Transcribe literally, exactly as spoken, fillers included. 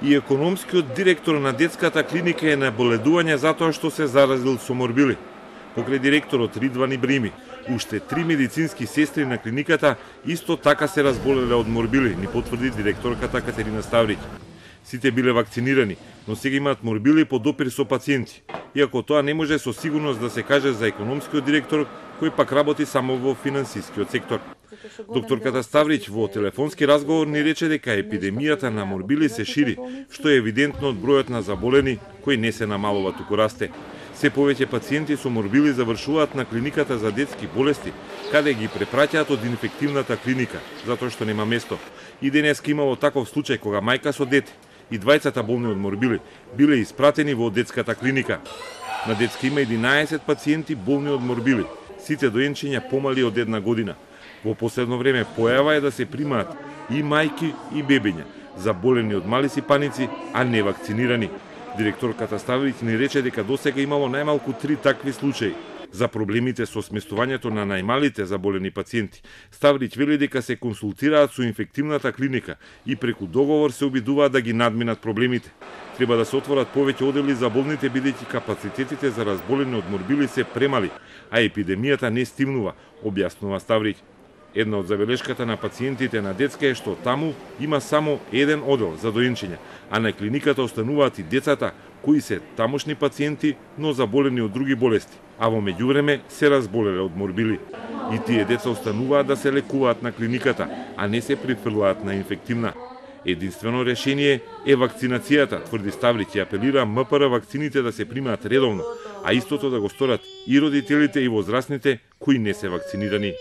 И економскиот директор на детската клиника е на боледување затоа што се заразил со морбили. Покрај директорот Ридван Ибрими, уште три медицински сестри на клиниката исто така се разболеле од морбили, ни потврди директорката Катерина Ставриќ. Сите биле вакцинирани, но сега имаат морбили по допир со пациенти. Иако тоа не може со сигурност да се каже за економскиот директор, кој пак работи само во финансискиот сектор. Докторката Ставриќ во телефонски разговор ни рече дека епидемијата на морбили се шири, што е евидентно од бројот на заболени кој не се намалува, туку расте. Се повеќе пациенти со морбили завршуваат на клиниката за детски болести, каде ги препраќаат од инфективната клиника, затоа што нема место. И денеска имало таков случај кога мајка со дете и двајцата болни од морбили биле испратени во детската клиника. На детска има единаесет пациенти болни од морбили, сите доенчиња помали од една година. Во последно време појава е да се примаат и мајки и бебиња, заболени од мали сипаници, а не вакцинирани. Директорката Ставриќ ни рече дека досега имало најмалку три такви случаи. За проблемите со сместувањето на најмалите заболени пациенти, Ставриќ вели дека се консултираат со инфективната клиника и преку договор се обидуваат да ги надминат проблемите. Треба да се отворат повеќе одели за болните, бидејќи капацитетите за разболени од морбили се премали, а епидемијата не стимнува, објаснува Ставриќ. Една од забелешката на пациентите на детска е што таму има само еден одел за доенчиња, а на клиниката остануваат и децата кои се тамошни пациенти, но заболени од други болести, а во меѓувреме се разболеле од морбили. И тие деца остануваат да се лекуваат на клиниката, а не се прифрлаат на инфективна. Единствено решение е вакцинацијата, тврди Ставриќ, и апелира МПР вакцините да се примаат редовно, а истото да го сторат и родителите и возрастните кои не се вакцинирани.